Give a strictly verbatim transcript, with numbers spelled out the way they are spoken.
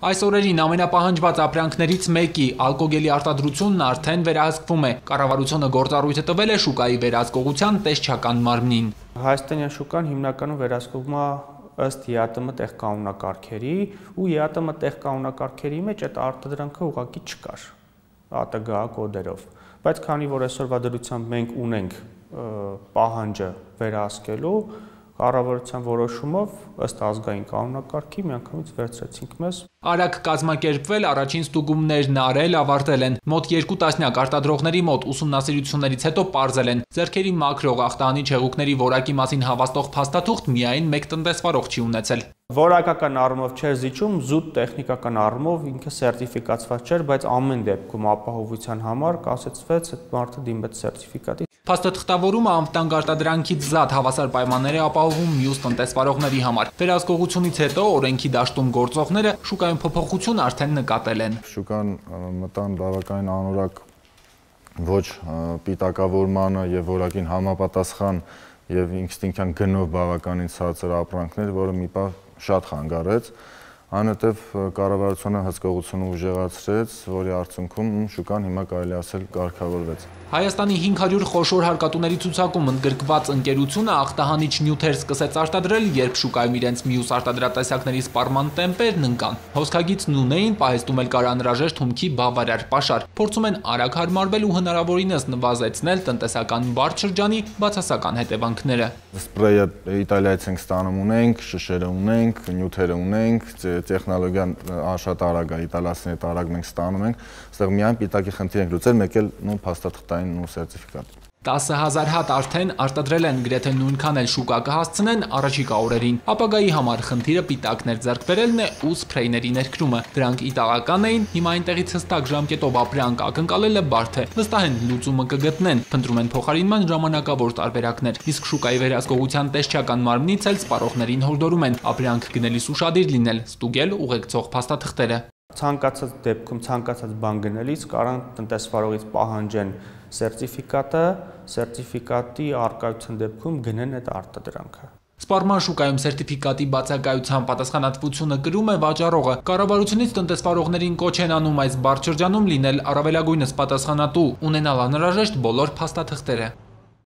Այս օրերին ամենապահանջված ապրանքներից մեկի ալկոգելի արտադրությունն արդեն վերահսկվում է։ Կառավարությունը գործառույթ տվել է շուկայի վերահսկողության տեսչական մարմնին։ Հայաստանյան շուկան հիմնականում վերահսկվում է ըստ ԵԱՏՄ տեղ կանոնակարգերի, ու ԵԱՏՄ տեղ կանոնակարգերի մեջ այդ արտադրանքը ուղղակի չկար ԱՏԳ կոդերով։ Բայց քանի որ այսօրվա դրությամբ մենք ունենք պահանջը վերահսկելու, կառավարության որոշումով ըստ ազգային կանոնակարգի միանգամից վերցրեցինք մեզ։ Արագ կազմակերպվել, առաջին ստուգումներն արել, ավարտել են։ Մոտ երկու տասնյակ արտադրողների մոտ ուսումնասիրություններից հետո պարզել են, ձեռքերի մաքրող ախտահանի հեղուկների որակի մասին հավաստող փաստաթուղթ միայն մեկ տնտեսվարող չի ունեցել։ Որակական առումով չէր զիջում, զուտ տեխնիկական առումով ինքը սերտիֆիկացված չէր, բայց ամեն դեպքում ապահովության համար կասեցվեց այդ մարդը դիմեց սերտիֆիկատի։ Փաստաթղթավորումը անվտանգ արտադրանքից զատ հավասար պայմաններ է ապահովում մյուս տնտեսվարողների համար։ Վերահսկողությունից հետո օրենքի դաշտում գործողները շուկայում փոփոխություն արդեն նկատել են։ Շուկան մտան բավականին անորակ ոչ պիտակավորմանը եւ որակին համապատասխան եւ ինստինկտյան գնով բավականին ցածր ապրանքներ, որը մի պահ շատ խանգարեց, այնուհետև կառավարությունը հսկողությունը ուժեղացրեց, որի արդյունքում շուկան հիմա կարելի ասել կարգավորվեց։ Հայաստանի հինգ հարյուր խոշոր հարկատուների ցուցակում ընդգրկված ընկերությունը ախտահանիչ նյութեր սկսեց արտադրել, երբ շուկայում իրենց մյուս արտադրատեսակների սպառման տեմպերն ընկան։ Հոսքագիծն ունեին, պահեստում էլ կար անհրաժեշտ հումքի բավարար պաշար։ Փորձում են արագ հարմարվել ու հնարավորինս նվազեցնել տնտեսական բարդ շրջանի բացասական հետևանքները։ Սպրեյը Իտալիայից ենք ստանում ունենք, շշերը ունենք, նյութերը ունենք, տեխնոլոգիան շատ արագ է, իտալացիների հետ արագ մենք ստանում ենք, այստեղ միայն պիտակի խնդիր ենք լուծել, մեկ էլ նույն փաստաթղթային ու սերտիֆիկատ։ տասը հազար հատ արդեն արտադրել են, գրեթե նույնքան էլ շուկա կհասցնեն առաջիկա օրերին։ Ապագայի համար խնդիրը պիտակներ ձեռք բերելն է ու սփրեյների ներկրումը։ Դրանք իտալական էին, հիմա այնտեղից հստակ ժամկետով ապրանք ակնկալելը բարդ է։ Վստահ են լուծումը կգտնեն, փնտրում են փոխարինման ժամանակավոր տարբերակներ։ Իսկ շուկայի վերահսկողության տեսչական մարմնից էլ սպառողներին հորդորում են ապրանք գնելիս ուշադիր լինել, ստուգել ուղեկցող փաստաթղթերը։ Ցանկացած դեպքում ցանկացած բան գնելիս կարան տնտեսվարողից պահանջեն սերտիֆիկատը, սերտիֆիկատի առկայության դեպքում գնեն այդ արտադրանքը։ Սպառման շուկայում սերտիֆիկատի բացակայության պատասխանատվությունը կրում է վաճառողը։ Կառավարությունից տնտեսվարողներին կոչ են անում այս բարդ շրջանում լինել առավելագույնս պատասխանատու, ունենալ անհրաժեշտ բոլոր փաստաթղթերը։